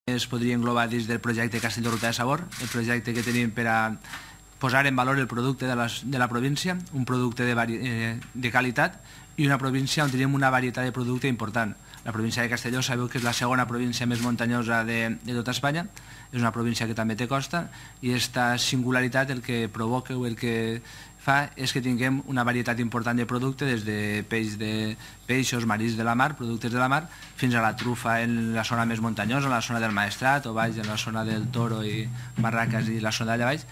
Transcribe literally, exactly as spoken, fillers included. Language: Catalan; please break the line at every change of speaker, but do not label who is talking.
Es podria englobar dins del projecte Castelló Ruta de Sabor, el projecte que tenim per a posar en valor el producte de la, de la província, un producte de, vari, eh, de qualitat i una província on tenim una varietat de producte important. La província de Castelló sabeu que és la segona província més muntanyosa de, de tota Espanya, és una província que també té costa i aquesta singularitat el que provoca o el que fa és que tinguem una varietat important de producte, des de peix de peixos, marins de la mar, productes de la mar, fins a la trufa en la zona més muntanyosa, en la zona del Maestrat o baix en la zona del Toro i Barraques i la zona d'allà baix.